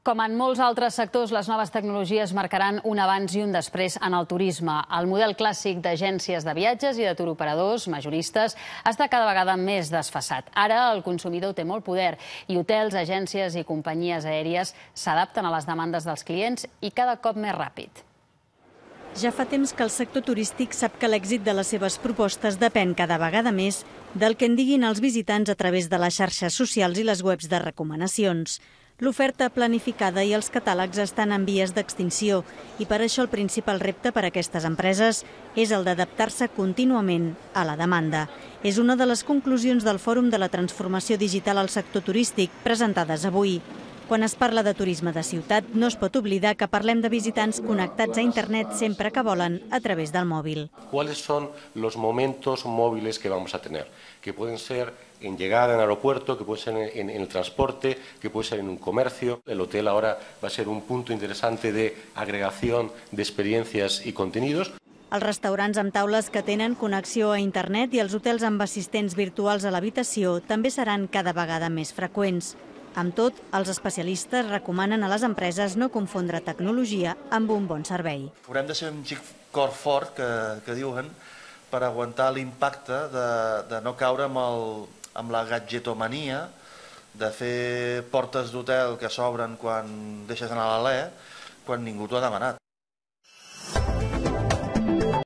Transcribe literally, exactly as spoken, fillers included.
Com en molts altres sectors, les noves tecnologies marcaran un abans i un després en el turisme. El model clàssic d'agències de viatges i de turoperadors majoristes està cada vegada més desfasat. Ara el consumidor té molt poder i hotels, agències i companyies aèries s'adapten a les demandes dels clients i cada cop més ràpid. Ja fa temps que el sector turístic sap que l'èxit de les seves propostes depèn cada vegada més del que en diguin els visitants a través de les xarxes socials i les webs de recomanacions. L'oferta planificada i els catàlegs estan en vies d'extinció i per això el principal repte per a aquestes empreses és el d'adaptar-se contínuament a la demanda. És una de les conclusions del Fòrum de la Transformació Digital al Sector Turístic presentades avui. Quan es parla de turisme de ciutat, no es pot oblidar que parlem de visitants connectats a internet sempre que volen a través del mòbil. ¿Cuáles son los momentos móviles que vamos a tener? Que pueden ser en llegada en el aeropuerto, que puede ser en, en el transporte, que puede ser en un comercio. El hotel ahora va a ser un punto interesante de agregación de experiencias y contenidos. Els restaurants amb taules que tenen connexió a internet i els hotels amb assistents virtuals a l'habitació també seran cada vegada més freqüents. Amb tot, els especialistes recomanen a les empreses no confondre tecnologia amb un bon servei. Haurem de ser un xic cor fort, que, que diuen, per aguantar l'impacte de, de no caure amb, el, amb la gadgetomania, de fer portes d'hotel que s'obren quan deixes anar l'alè, quan ningú t'ho ha demanat.